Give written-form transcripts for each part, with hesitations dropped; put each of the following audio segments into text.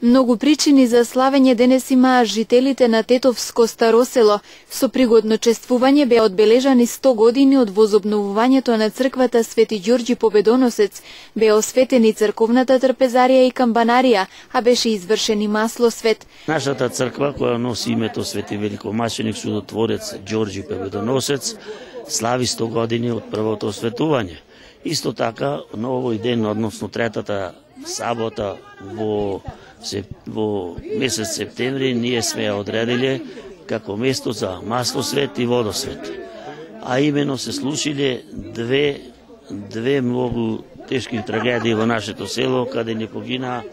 Многу причини за славење денес имаа жителите на Тетовско старо село. Со пригодно чествување беа одбележани 100 години од возобновувањето на црквата Свети Ѓорѓи Победоносец, беа осветени црковната трпезарија и камбанарија, а беше извршен и маслосвет. Нашата црква, која носи името Свети великомаченик чудотворец Ѓорѓи Победоносец, слави 100 години од првото осветување. Исто така, на овој ден, односно третата сабота во месец септември, ние сме ја одредиле како место за маслосвет и водосвет. А именно се случиле две многу тешки трагедии во нашето село, каде не погина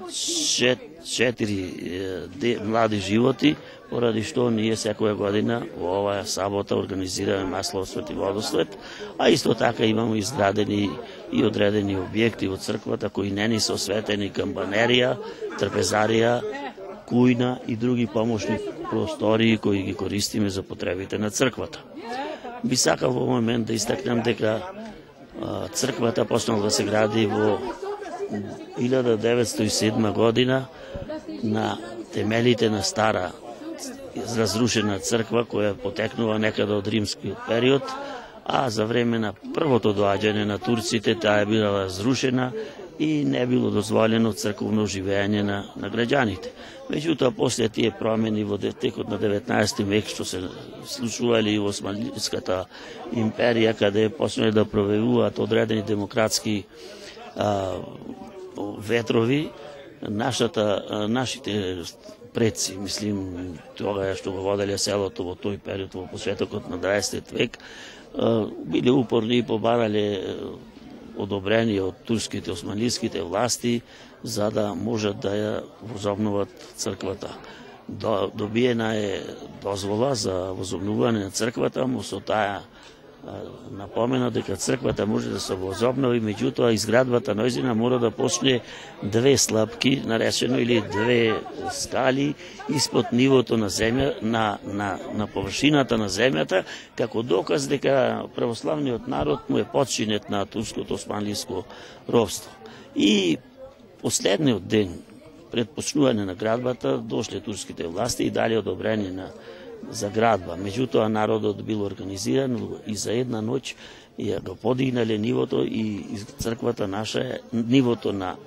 4 млади животи, поради што ние секоја година во оваа сабота организираме маслосвет и водосвет, а исто така имаме изградени и одредени објекти во црквата кои не ни се осветени: камбанерија, трпезарија, кујна и други помошни простории кои ги користиме за потребите на црквата. Би сакал во момент да истакнам дека црквата почнала да се гради во 1907 година на темелите на стара разрушена црква која потекнува некаде од римскиот период, а за време на првото доаѓање на турците таа е била разрушена и не било дозволено црковно живење на граѓаните. Меѓутоа, после тие промени во текот на 19 век, што се случували во Османската империја, каде почнале да провејуваат одредени демократски ветрови, нашите предци, мислим, тога што го воделе селото во тој период, во почетокот на 20 век, биле упорни и побарале одобрение од турските, османлиските власти, за да можат да ја возобноват црквата. Добиена е дозвола за возобновување на црквата, но со таа напомена дека црквата може да се возобнови, меѓутоа изградбата најзина мора да почне 2 слапки, наречено, или 2 скали испод нивото на земја, на површината на земјата, како доказ дека православниот народ му е подчинет на турското османлиско робство. И последниот ден пред почнување на градбата дошле турските власти и дали одобрение за градба. Меѓутоа народот бил организиран и за една ноќ ја го подигнале нивото и црквата наша, нивото на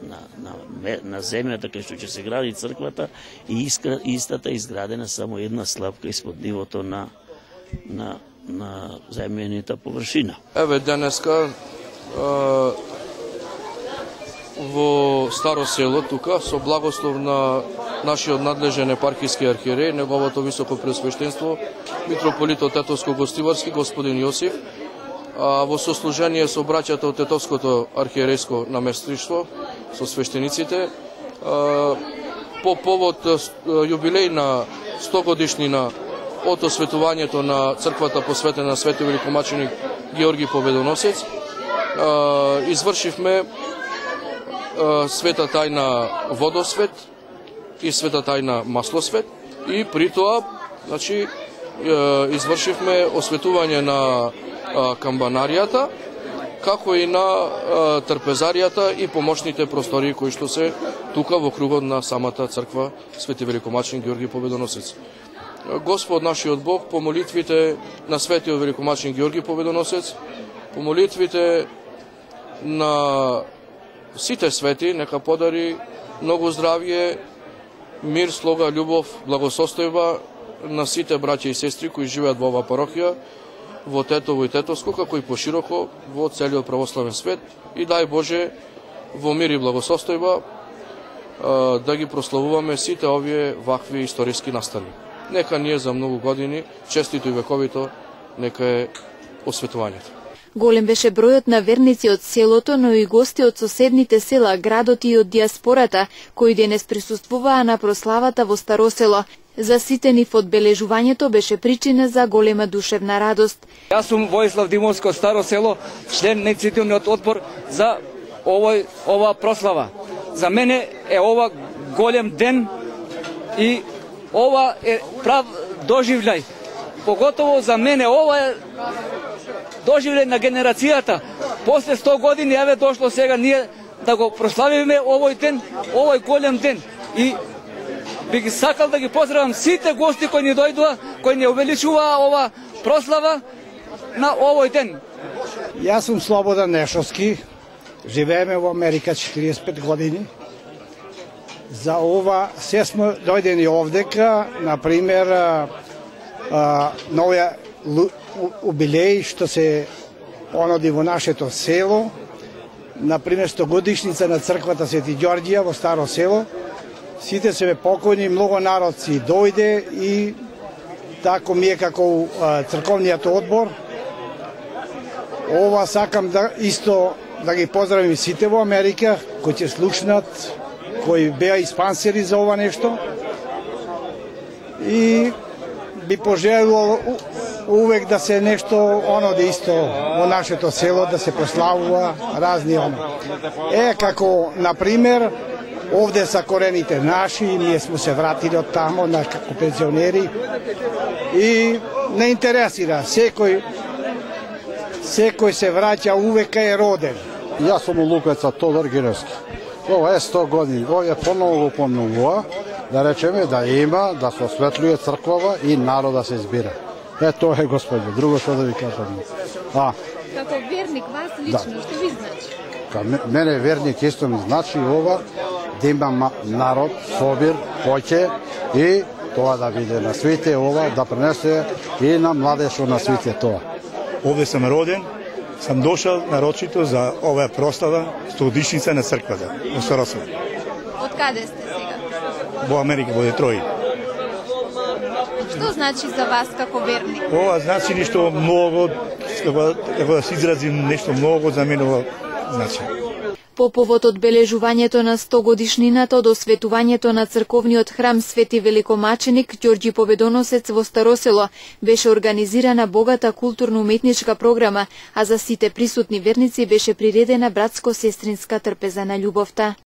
земјата кај што ќе се гради црквата, и истата изградена само една слапка испод нивото на земјаната површина. Еве денеска во Старо село тука, со благослов на нашиот надлежен епархиски архиерей, неговото високо преосвештенство митрополитот Тетовско-Гостиварски господин Јосиф, во сослужение со браќата од Тетовското архиерейско наместништво, со свештениците, по повод јубилеј на 100 годишнина од осветувањето на црквата посветена на Свети великомаченик Ѓорѓи Победоносец, извршивме света тајна водосвет и света тајна маслосвет, и при тоа, значи, извршивме осветување на камбанаријата, како и на трпезаријата и помошните простории кои што се тука во кругот на самата црква Свети великомаченик Ѓорѓи Победоносец. Господ нашиот Бог, по молитвите на Светиот великомаченик Ѓорѓи Победоносец, по молитвите на сите свети, нека подари многу здравје, мир, слога, љубов, благосостојба на сите браќа и сестри кои живеат во оваа парохија, во Тетово и Тетовско, како и пошироко во целиот православен свет, и дај Боже во мир и благосостојба да ги прославуваме сите овие вакви историски настани. Нека ние за многу години, честито и вековито, нека е осветувањето. Голем беше бројот на верници од селото, но и гости од соседните села, градот и од диаспората, кои денес присуствуваа на прославата во Старо село. За сите нив одбележувањето беше причина за голема душевна радост. Јас сум Војслав Димовски од Старо село, член на иницијативниот одбор за ова прослава. За мене е ова голем ден и ова е прав доживљај. Поготово за мене ова е доживле на генерацијата. После 100 години еве дошло сега ние да го прославиме овој ден, овој голем ден. и би ги сакал да ги поздравам сите гости кои ни дојдоа, кои ни увеличува ова прослава на овој ден. Јас сум Слободан Нешовски, живееме во Америка 45 години. За ова се сме дојдени овдека, например, на овој убилеј што се оноди во нашето село, например 100 годишница на црквата Свети Ѓорѓија во Старо село. Сите се покојни, многу народ си дојде и тако ми е како црковниот одбор. Ова сакам да исто да ги поздравим сите во Америка кои ќе слушнат, кои беа испансери за ова нешто. И би пожелувал увек да се нешто оноде исто во нашето село, да се прославува разни како, например, овде са корените наши, ние сме се вратили од тамо, како пензионери, и не интересира, секој се враќа увека е роден. Јас сум Лукаца Тодор Гиновски. Ова е 100 години, ова е поново го помнувува, да речеме да има, да се осветлюе црквава и народа се избира. Тоа е, Господи, друго што да ви кажам. Како верник, вас лично, што ви значи? Мене верник исто ми значи ова, да има народ, собир, хоќе и тоа да биде на свите ова, да пренесе и на младежот на свите тоа. Овде сум роден, сам дошал нарочито за оваа прослава 100-годишница на црквата во Старо село. Од каде сте сега? Во Америка, во Детроит. Што значи за вас како верник? Ова значи нешто многу, како да се изразим, нешто многу за мене ова значи. По повод одбележувањето на 100 годишнината од осветувањето на црковниот храм Свети Великомаченик Ѓорѓи Победоносец во Старо село беше организирана богата културно-уметничка програма, а за сите присутни верници беше приредена братско-сестринска трпеза на љубовта.